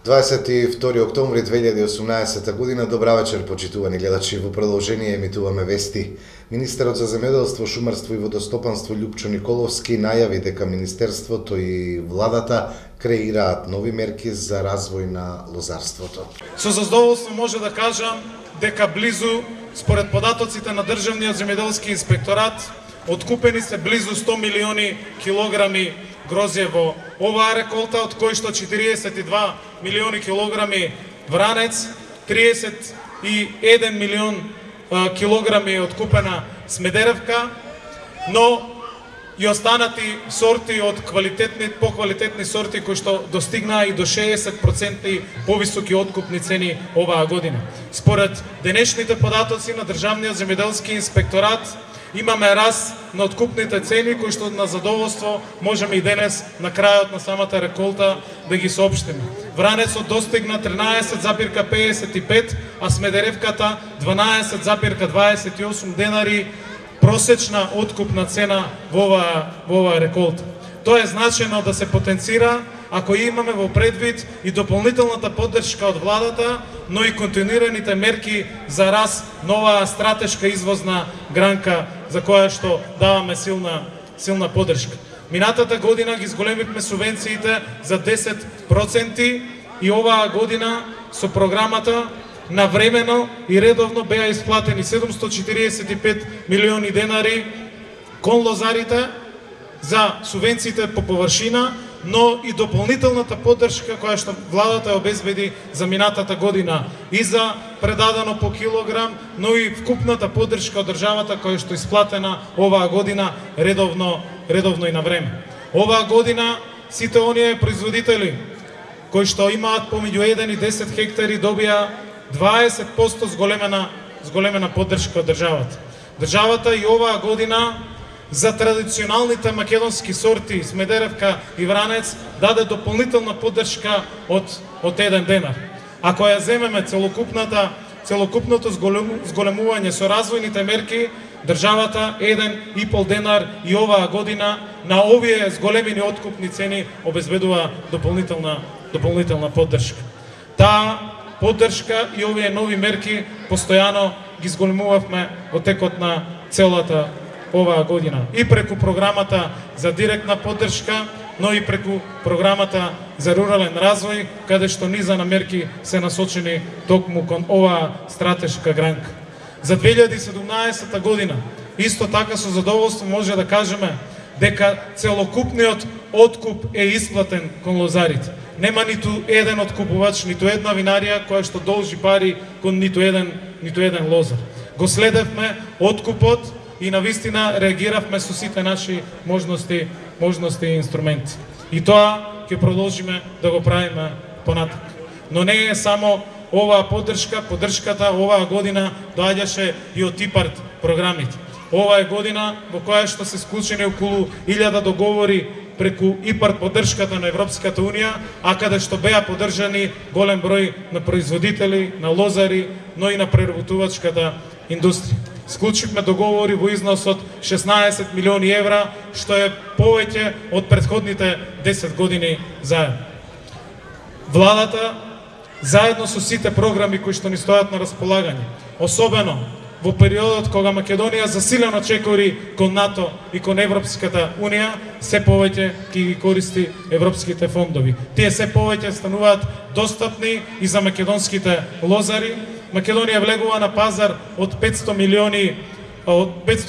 22 октомври 2018 година. Добра вечер, почитувани гледачи. Во продолжение емитуваме вести. Министерот за земјоделство, шумарство и водостопанство Љупчо Николовски најави дека Министерството и владата креираат нови мерки за развој на лозарството. Со задоволство може да кажам дека близу, според податоците на Државниот земјоделски инспекторат, откупени се близу 100 милиони килограми грозје во оваа реколта, од кои што 42 милиони килограми вранец, 31 милион килограми откупена смедеревка, но и останати сорти од поквалитетни сорти кои што достигнаа и до 60% повисоки откупни цени оваа година. Според денешните податоци на Државниот земјоделски инспекторат, имаме раст на откупните цени кои што на задоволство можеме и денес на крајот на самата реколта да ги соопштиме. Вранецот достигна 13,55, а смедеревката 12,28 денари просечна откупна цена во оваа реколта. Тоа е значено да се потенцира ако имаме во предвид и дополнителната поддршка од владата, но и континуираните мерки за раст на оваа стратешка извозна гранка за која што даваме силна поддршка. Минатата година ги зголемивме субвенциите за 10% и оваа година со програмата навремено и редовно беа исплатени 745 милиони денари кон лозарите за субвенциите по површина, но и дополнителната поддршка која што владата ја обезбеди за минатата година и за предадено по килограм, но и вкупната поддршка од државата која што исплатена оваа година редовно и на време. Оваа година сите оние производители кои што имаат помеѓу 1 и 10 хектари добија 20% зголемена поддршка од државата. Државата и оваа година за традиционалните македонски сорти смедеревка и вранец даде дополнителна поддршка од 1 денар. Ако ја земеме целокупното зголемување со развојните мерки, државата 1,5 денар и оваа година на овие зголемени откупни цени обезбедува дополнителна поддршка. Таа поддршка и овие нови мерки постојано ги зголемувавме во текот на целата оваа година и преку програмата за директна поддршка, но и преку програмата за рурален развој, каде што низа на мерки се насочени токму кон оваа стратешка гранка. За 2017 година исто така со задоволство може да кажеме дека целокупниот откуп е исплатен кон лозарите. Нема ниту еден откупувач, ниту една винарија која што должи пари кон ниту еден лозар. Го следевме откупот и навистина реагиравме со сите наши можности и инструменти. И тоа ќе продолжиме да го правиме понатак. Но не е само оваа поддршката оваа година доаѓаше и од ИПАРД програмите. Ова е година во која што се склучени околу 1000 договори преку ИПАРД поддршката на Европската Унија, а каде што беа поддржани голем број на производители, на лозари, но и на преработувачката индустрија. Склучивме договори во износ од 16 милиони евра, што е повеќе од претходните 10 години заедно. Владата, заедно со сите програми кои што ни стојат на располагање, особено во периодот кога Македонија засилено чекори кон НАТО и кон Европската Унија, се повеќе ќе ги користи европските фондови. Тие се повеќе стануваат достапни и за македонските лозари. Македонија влегува на пазар од 500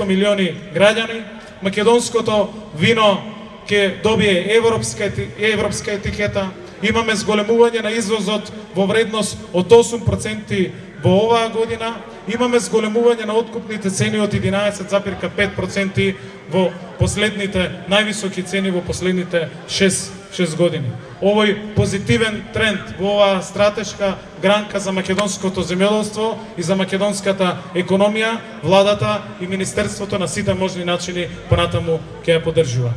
милиони граѓани. Македонското вино ќе добие европска етикета. Имаме зголемување на извозот во вредност од 8% во оваа година. Имаме зголемување на откупните цени од 11,5% во последните највисоки цени во последните 6 години. Овој позитивен тренд во оваа стратешка гранка за македонското земјоделство и за македонската економија, владата и Министерството на сите можни начини понатаму ќе ја поддржува.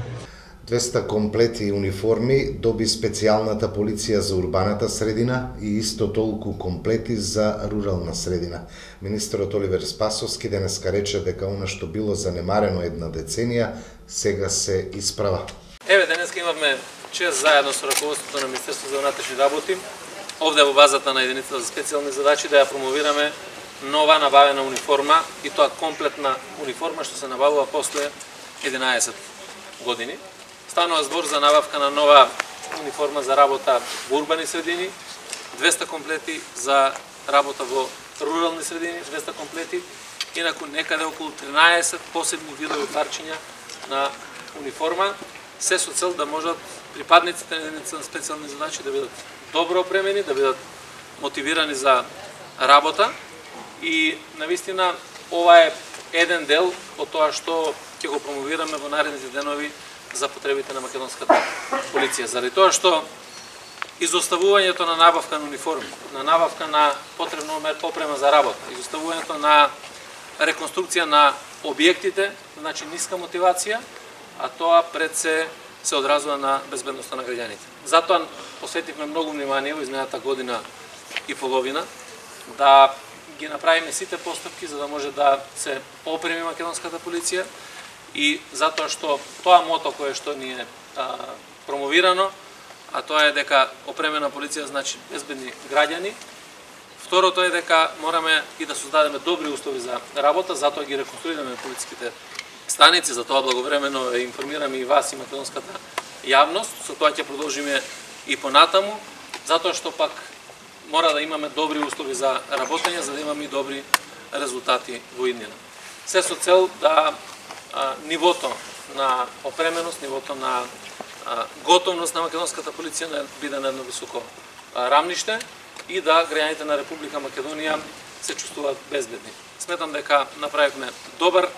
200 комплети униформи доби специјалната полиција за урбаната средина и исто толку комплети за рурална средина. Министерот Оливер Спасовски денеска рече дека она што било занемарено една деценија, сега се исправа. Еве, денеска имавме чест заедно со раководството на Министерството за внатрешни работи овде во базата на единицата за специјални задачи да ја промовираме нова набавена униформа, и тоа комплетна униформа што се набавува после 11 години. Станува збор за набавка на нова униформа за работа во урбани средини, 200 комплети за работа во рурални средини, 200 комплети, инаку некаде околу 13 посебни видови парчиња на униформа, се со цел да можат припадниците на единицата на специјални задачи да бидат добро опремени, да бидат мотивирани за работа, и навистина ова е еден дел од тоа што ќе го промовираме во наредните денови за потребите на македонската полиција. Заради тоа што изоставувањето на набавка на униформи, на набавка на потребна опрема за работа, изоставувањето на реконструкција на објектите, значи ниска мотивација, а тоа пред се одразува на безбедноста на граѓаните. Затоа посветивме многу внимание во изминалата година и половина да ги направиме сите постапки за да може да се опреми македонската полиција, и затоа што тоа мото кое што ни е промовирано, а тоа е дека опремена полиција значи безбедни граѓани. Второто е дека мораме и да создадеме добри услови за работа, затоа ги реконструираме полициските станици, затоа благовремено информираме и вас и македонската јавност, со тоа ќе продолжиме и понатаму, затоа што пак мора да имаме добри услови за работење, за да имаме и добри резултати во иднина. Се со цел да нивото на опременост, нивото на готовност на македонската полиција биде на едно високо рамниште и да граѓаните на Република Македонија се чувствуваат безбедни. Сметам дека направивме добар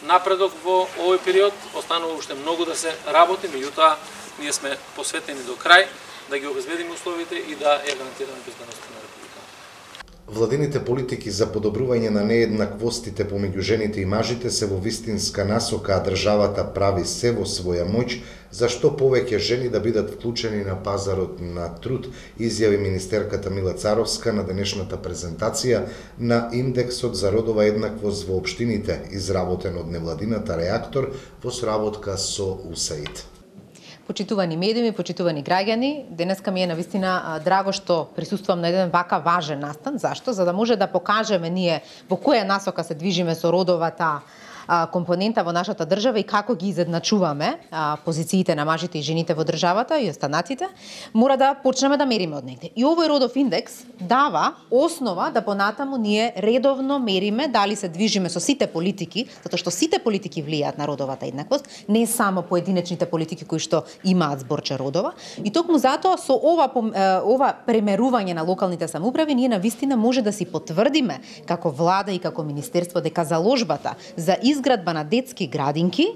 напредок во овој период, останува уште многу да се работи, меѓутоа ние сме посветени до крај да ги обезбедиме условите и да ја гарантираме безбедноста на Република. Владините политики за подобрување на нееднаквостите помеѓу жените и мажите се во вистинска насока, а државата прави се во своја моќ за што повеќе жени да бидат вклучени на пазарот на труд, изјави министерката Мила Царовска на денешната презентација на Индексот за родова еднаквост во општините, изработен од невладината Реактор во сработка со УСАИД. Почитувани медиуми, почитувани граѓани, денеска ми е навистина драго што присуствувам на еден вака важен настан. Зашто? За да може да покажеме ние во која насока се движиме со родовата компонента во нашата држава и како ги изедначуваме позициите на мажите и жените во државата и останатите, мора да почнеме да мериме од негде. И овој родов индекс дава основа да понатаму ние редовно мериме дали се движиме со сите политики, затоа што сите политики влијаат на родовата еднаквост, не само поединечните политики кои што имаат зборче родова. И токму затоа со ова премерување на локалните самоуправи ние навистина може да си потврдиме како влада и како министерство дека заложбата за изградба на детски градинки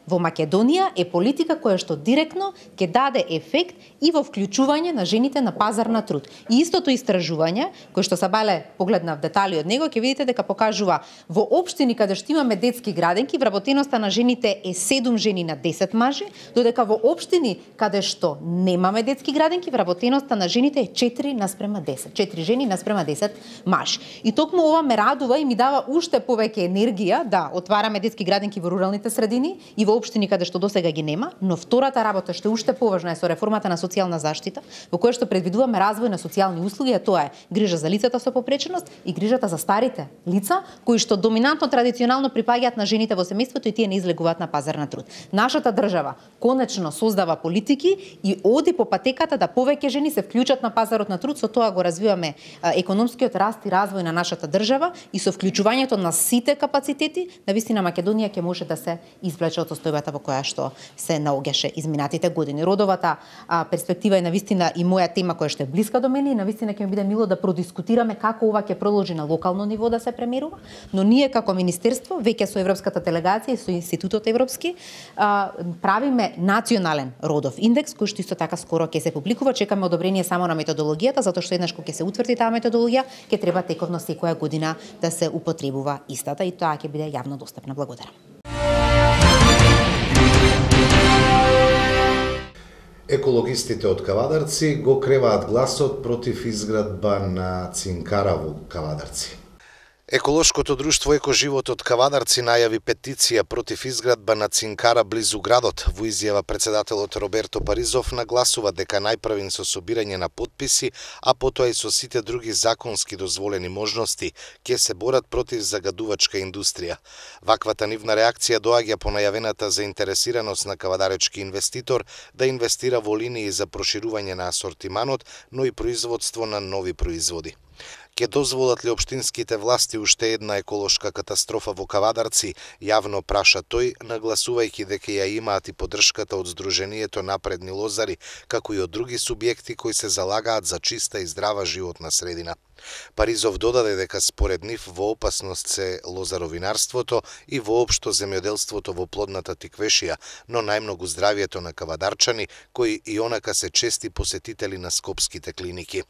во Македонија е политика која што директно ќе даде ефект и во вклучување на жените на пазар на труд. И истото истражување, кој што Сабале погледна в детали од него, ќе видите дека покажува во општини каде што имаме детски градинки, вработеноста на жените е 7 жени на 10 мажи, додека во општини каде што немаме детски градинки, вработеноста на жените е 4:10. 4 жени наспрема 10 мажи. И токму ова ме радува и ми дава уште повеќе енергија да отвараме детски градинки во руралните средини и во општини каде што досега ги нема, но втората работа што е уште поважна е со реформата на социјална заштита, во која што предвидуваме развој на социјални услуги, а тоа е грижа за лицата со попреченост и грижата за старите лица, кои што доминантно традиционално припаѓаат на жените во семејството и тие не излегуваат на пазар на труд. Нашата држава конечно создава политики и оди по патеката да повеќе жени се вклучат на пазарот на труд, со тоа го развиваме економскиот раст и развој на нашата држава и со вклучувањето на сите капацитети, навистина Македонија ќе може да се извлече од состојбата во која што се наоѓаше изминатите години. Родовата перспектива е навистина и моја тема која што е блиска до мене и навистина ќе ми биде мило да продискутираме како ова ќе продолжи на локално ниво да се премерува, но ние како министерство веќе со Европската делегација и со Институтот Европски правиме национален родов индекс кој што исто така скоро ќе се публикува. Чекаме одобрение само на методологијата, затоа што еднаш кога ќе се утврди таа методологија, ќе треба тековно секоја година да се употребува истата и тоа ќе биде јавно достапна. Благодарам. Екологистите од Кавадарци го креваат гласот против изградба на цинкара во Кавадарци. Еколошкото друштво Екоживотот Кавадарци најави петиција против изградба на цинкара близу градот. Во изјава председателот Роберто Паризов нагласува дека најправен со собирање на потписи, а потоа и со сите други законски дозволени можности, ќе се борат против загадувачка индустрија. Ваквата нивна реакција доаѓа по најавената заинтересираност на кавадаречки инвеститор да инвестира во линии за проширување на асортиманот, но и производство на нови производи. Ке дозволат ли општинските власти уште една еколошка катастрофа во Кавадарци, јавно праша тој, нагласувајќи дека ја имаат и поддршката од Сдруженијето Напредни лозари, како и од други субјекти кои се залагаат за чиста и здрава животна средина. Паризов додаде дека според нив во опасност се лозаровинарството и воопшто земјоделството во плодната Тиквешија, но најмногу здравието на кавадарчани, кои и онака се чести посетители на скопските клиники.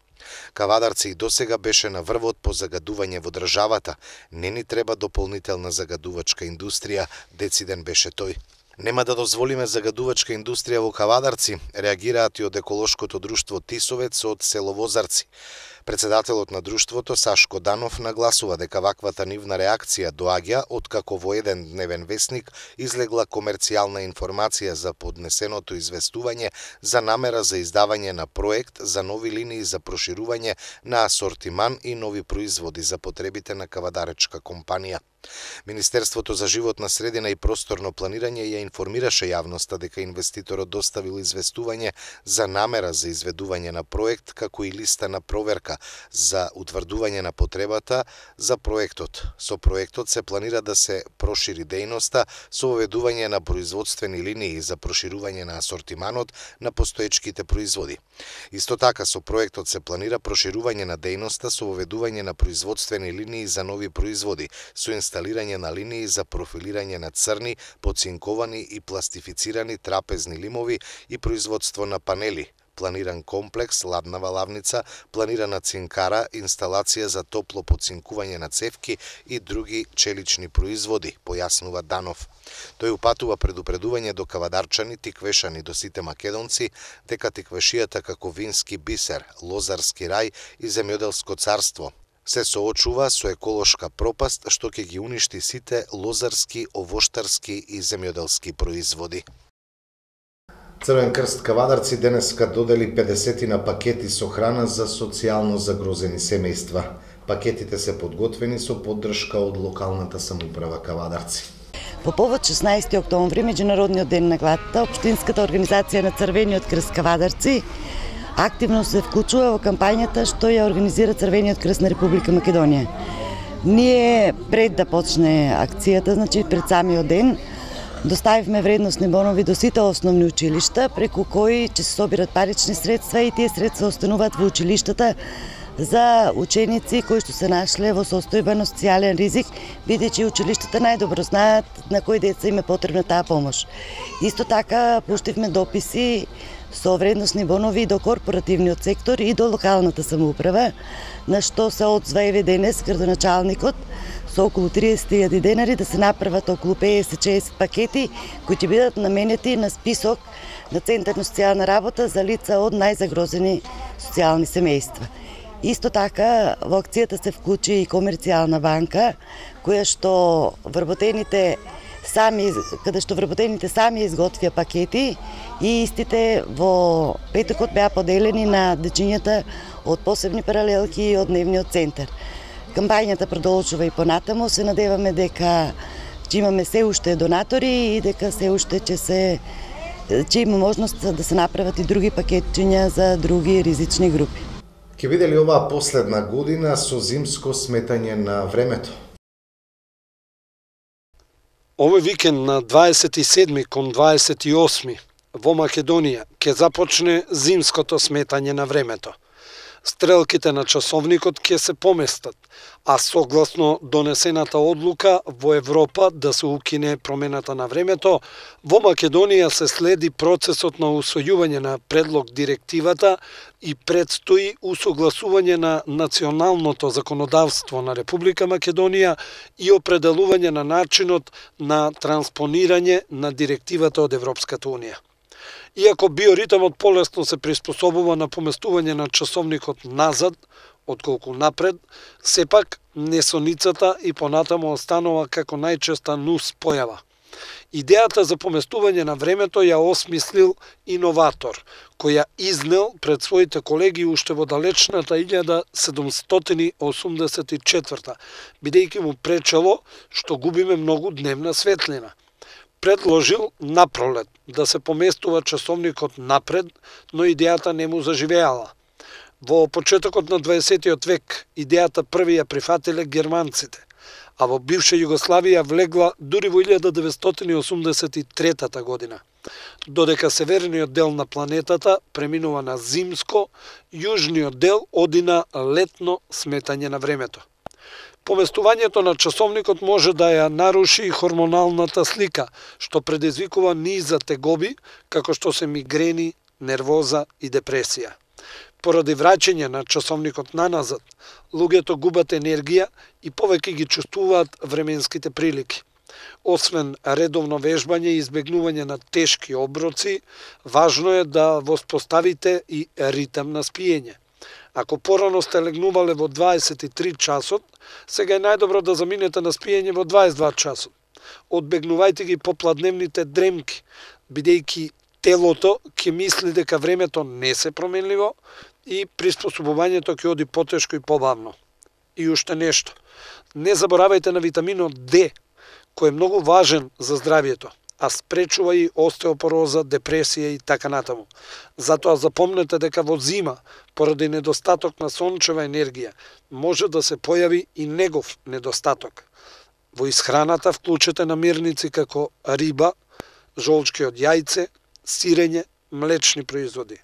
Кавадарци и досега беше на врвот по загадување во државата. Не ни треба дополнителна загадувачка индустрија, дециден беше тој. Нема да дозволиме загадувачка индустрија во Кавадарци, реагираат и од еколошкото друштво Тисовец од село Возарци. Председателот на друштвото Сашко Данов нагласува дека ваквата нивна реакција доаѓа откако во еден дневен весник излегла комерцијална информација за поднесеното известување за намера за издавање на проект за нови линии за проширување на асортиман и нови производи за потребите на кавадаречка компанија. Министерството за животна средина и просторно планирање ја информираше јавноста дека инвеститорот доставил известување за намера за изведување на проект, како и листа на проверка за утврдување на потребата за проектот. Со проектот се планира да се прошири дејноста со воведување на производствени линии за проширување на асортиманот на постоечките производи. Исто така со проектот се планира проширување на дејноста со воведување на производствени линии за нови производи, со инсталирање на линии за профилирање на црни, поцинковани и пластифицирани трапезни лимови и производство на панели, планиран комплекс, ладнава лавница, планирана цинкара, инсталација за топло поцинкување на цевки и други челични производи, појаснува Данов. Тој упатува предупредување до кавадарчани, тиквешани, до сите македонци, дека Тиквешијата како вински бисер, лозарски рај и земјоделско царство се соочува со еколошка пропаст што ќе ги уништи сите лозарски, овоштарски и земјоделски производи. Црвен крст Кавадарци денеска додели 50 пакети со храна за социјално загрозени семејства. Пакетите се подготвени со поддршка од локалната самоуправа Кавадарци. По повод 16 октомври, Меѓународниот ден на гладта, Општинската организација на Црвениот крст Кавадарци активно се вклучува во кампањата што ја организира Црвениот крст на Република Македонија. Ние пред да почне акцијата, значи пред самиот ден, доставивме вредносни бонови до сите основни училишта, преку кои ќе се собират парични средства и тие средства остануваат во училиштата за ученици кои што се нашле во состојба на социјален ризик, бидејќи училиштата најдобро знаат на кои деца им е потребна таа помош. Исто така пуштивме дописи со вредносни бонови до корпоративниот сектор и до локалната самоуправа, на што се одзва еве денес градоначалникот со околу 30.000 денари да се направат околу 50-60 пакети кои ќе бидат наменети на список на Центар на социјална работа за лица од најзагрозени социјални семејства. Исто така во акцијата се вклучи и комерцијална банка, каде што вработените сами изготвија пакети и истите во петокот беа поделени на дечињата од посебни паралелки и од дневниот центар. Кампањата продолжува и понатаму, се надеваме дека ќе имаме се уште донатори и дека се уште ќе има можност да се направат и други пакетчиња за други ризични групи. Ке биде ли оваа последна година со зимско сметање на времето? Овој викенд на 27 кон 28 во Македонија ќе започне зимското сметање на времето. Стрелките на часовникот ќе се поместат, а согласно донесената одлука во Европа да се укине промената на времето, во Македонија се следи процесот на усвојување на предлог директивата и предстои усогласување на националното законодавство на Република Македонија и определување на начинот на транспонирање на директивата од Европската унија. Иако биоритмот полесно се приспособува на поместување на часовникот назад, отколку напред, сепак несоницата и понатаму останува како најчеста нус појава. Идејата за поместување на времето ја осмислил иноватор, кој ја изнел пред своите колеги уште во далечната 1784, бидејќи му пречело што губиме многу дневна светлина. Предложил напролет да се поместува часовникот напред, но идејата не му заживеала. Во почетокот на 20. век идејата први ја прифатиле германците, а во бивша Југославија влегла дури во 1983 година, додека северниот дел на планетата преминува на зимско, јужниот дел оди на летно сметање на времето. Поместувањето на часовникот може да ја наруши и хормоналната слика, што предизвикува низ тегоби, како што се мигрени, нервоза и депресија. Поради враќање на часовникот наназад, луѓето губат енергија и повеќе ги чувствуваат временските прилики. Освен редовно вежбање и избегнување на тешки оброци, важно е да воспоставите и ритам на спиење. Ако порано сте легнувале во 23 часот, сега е најдобро да заминете на спиење во 22 часот. Одбегнувајте ги попладневните дремки, бидејќи телото ќе мисли дека времето не се променливо и приспособувањето ќе оди потешко и побавно. И уште нешто. Не заборавајте на витаминот D, кој е многу важен за здравието, а спречува и остеопороза, депресија и така натаму. Затоа запомнете дека во зима, поради недостаток на сончева енергија, може да се појави и негов недостаток. Во исхраната вклучете намирници како риба, жолчки од јајце, сирење, млечни производи.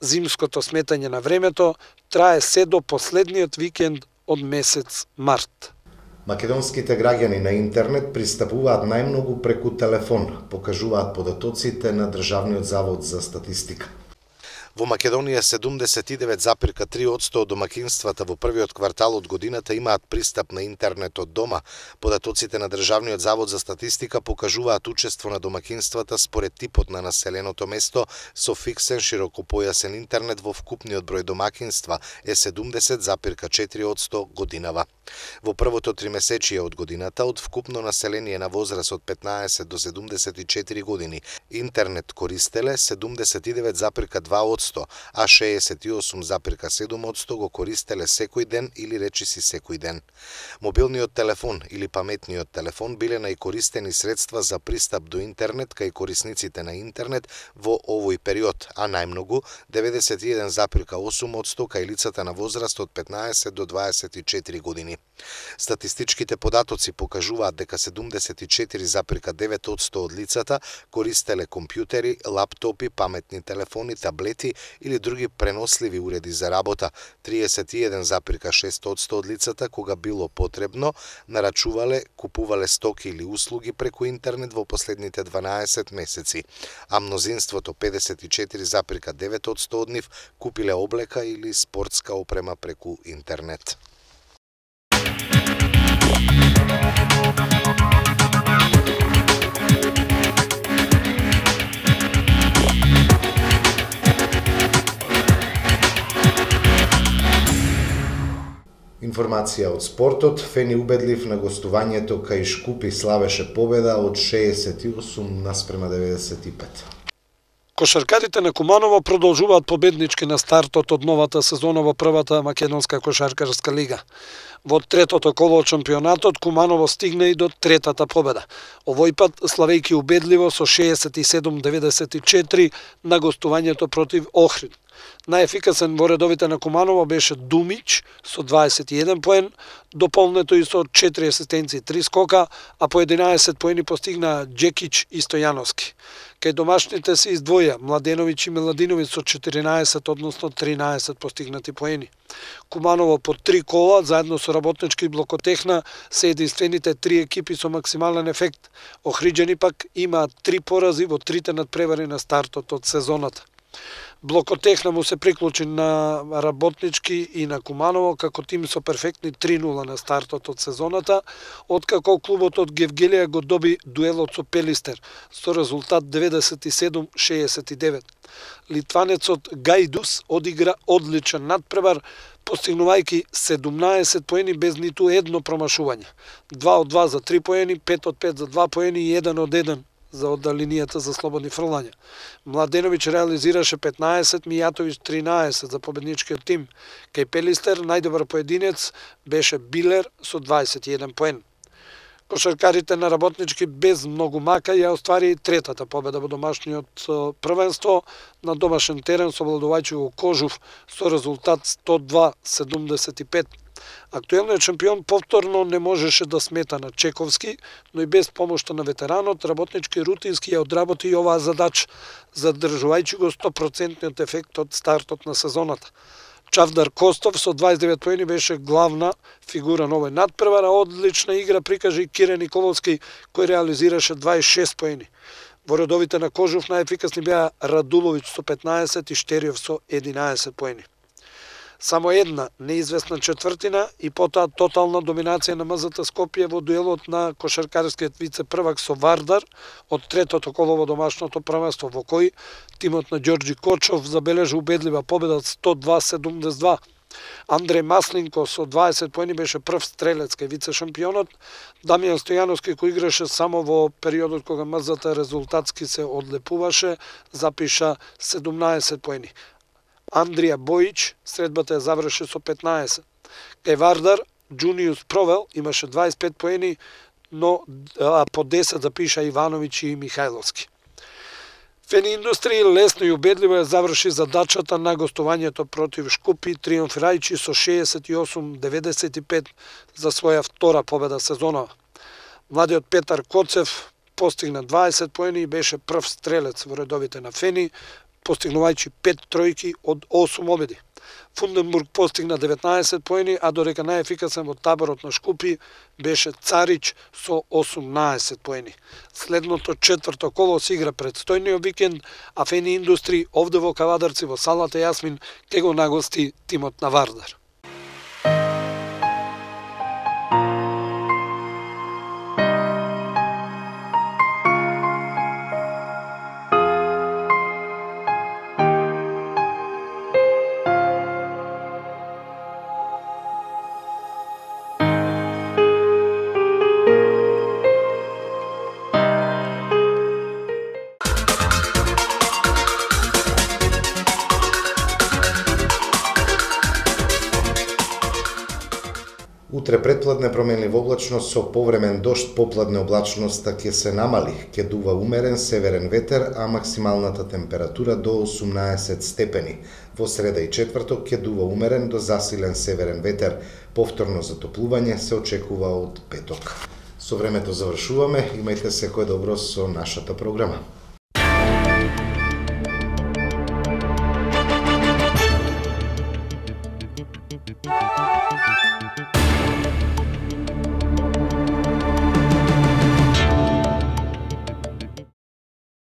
Зимското сметање на времето трае се до последниот викенд од месец март. Македонските граѓани на интернет пристапуваат најмногу преку телефон, покажуваат податоците на Државниот завод за статистика. Во Македонија 79,3% од домакинствата во првиот квартал од годината имаат пристап на интернет од дома. Податоците на Државниот завод за статистика покажуваат учество на домакинствата според типот на населеното место со фиксен широкопојасен интернет во вкупниот број домакинства е 70,4% годинава. Во првото тримесечие од годината од вкупно население на возраст од 15 до 74 години интернет користеле 79,2%, а 68,7% го користеле секој ден или речиси секој ден. Мобилниот телефон или паметниот телефон биле најкористени средства за пристап до интернет кај корисниците на интернет во овој период, а најмногу 91,8% кај лицата на возраст од 15 до 24 години. Статистичките податоци покажуваат дека 74,9% од лицата користеле компјутери, лаптопи, паметни телефони, таблети или други преносливи уреди за работа. 31,6% од лицата, кога било потребно, нарачувале, купувале стоки или услуги преку интернет во последните 12 месеци, а мнозинството 54,9% од нив купиле облека или спортска опрема преку интернет. Информација од спортот. Фени убедлив на гостувањето кај Шкупи славеше победа од 68:95. Кошаркарите на Куманово продолжуваат победнички на стартот од новата сезона во првата македонска кошаркарска лига. Во третото коло од шампионатот Куманово стигна и до третата победа. Овој пат славејќи убедливо со 67-94 на гостувањето против Охрид. Најефикасен во редовите на Куманово беше Думич со 21 поен, дополнето и со 4 асистенции и 3 скока, а по 11 поени постигна Джекич и Стојановски. Кај домашните се издвоја Младеновиќ и Миладиновиќ со 14, односно 13 постигнати поени. Куманово по 3 кола, заедно со Работнички и Блокотехна, се единствените 3 екипи со максимален ефект. Охриџани пак имаат 3 порази во 3 надпревари на стартот од сезоната. Блокотехна му се приклучи на Работнички и на Куманово како тим со перфектни 3-0 на стартот од сезоната, откако клубот од Гевгелија го доби дуелот со Пелистер со резултат 97-69. Литванецот Гајдус одигра одличен надпревар, постигнувајќи 17 поени без ниту едно промашување. 2 од 2 за 3 поени, 5 од 5 за 2 поени и 1 од 1 за оддалинијата за слободни фрлања. Младеновиќ реализираше 15, Мијатовиќ 13 за победничкиот тим. Кај Пелистер најдобар поединец беше Билер со 21 поен. Кошаркарите на Работнички без многу мака ја оствари третата победа во домашниот првенство на домашен терен со обладувајќи Кожув со резултат 102-75. Актуелниот шампион повторно не можеше да смета на Чековски, но и без помошта на ветеранот, Работнички рутински ја одработи и оваа задача, задржувајќи го 100% ефект од стартот на сезоната. Чавдар Костов со 29 поени беше главна фигура на овој надпревар, а одлична игра прикажи Кире Николовски, кој реализираше 26 поени. Во редовите на Кожув најефикасни беа Радуловиќ со 15 и Штериев со 11 поени. Само една неизвестна четвртина и потоа тотална доминација на МЗТ Скопје во дуелот на кошаркарскиот вице-првак со Вардар од третото коло во домашното првенство, во кој тимот на Ѓорѓи Кочов забележи убедлива победа 102-72. Андреј Маслинко со 20 поени беше прв стрелец кај вице-шампионот. Дамјан Стојановски, кој играше само во периодот кога МЗТ резултатски се одлепуваше, запиша 17 поени. Андрија Бојич средбата ја заврши со 15. Кај Вардар, Джуниус Провел имаше 25 поени, но по 10 запиша Ивановиќ и Михајловски. Фени Индустрија лесно и убедливо ја заврши задачата на гостувањето против Шкупи, триумфирајќи со 68-95 за своја втора победа сезонова. Младиот Петар Коцев постигна 20 поени и беше прв стрелец во редовите на Фени, постигнувајќи 5 тројки од 8 обеди. Фунденбург постигна 19 поени, а додека најефикасен во таборот на Шкупи беше Царич со 18 поени. Следното четврто коло се игра предстојниот викенд, а Фени Индустри овде во Кавадарци во салата Јасмин ке го нагости тимот на Вардар. Утре предпладне променлива облачност со повремен дожд, попладне облачноста ќе се намали, ќе дува умерен северен ветер, а максималната температура до 18 степени. Во среда и четврток ќе дува умерен до засилен северен ветер. Повторно затоплување се очекува од петок. Со времето завршуваме, имајте секое добро со нашата програма.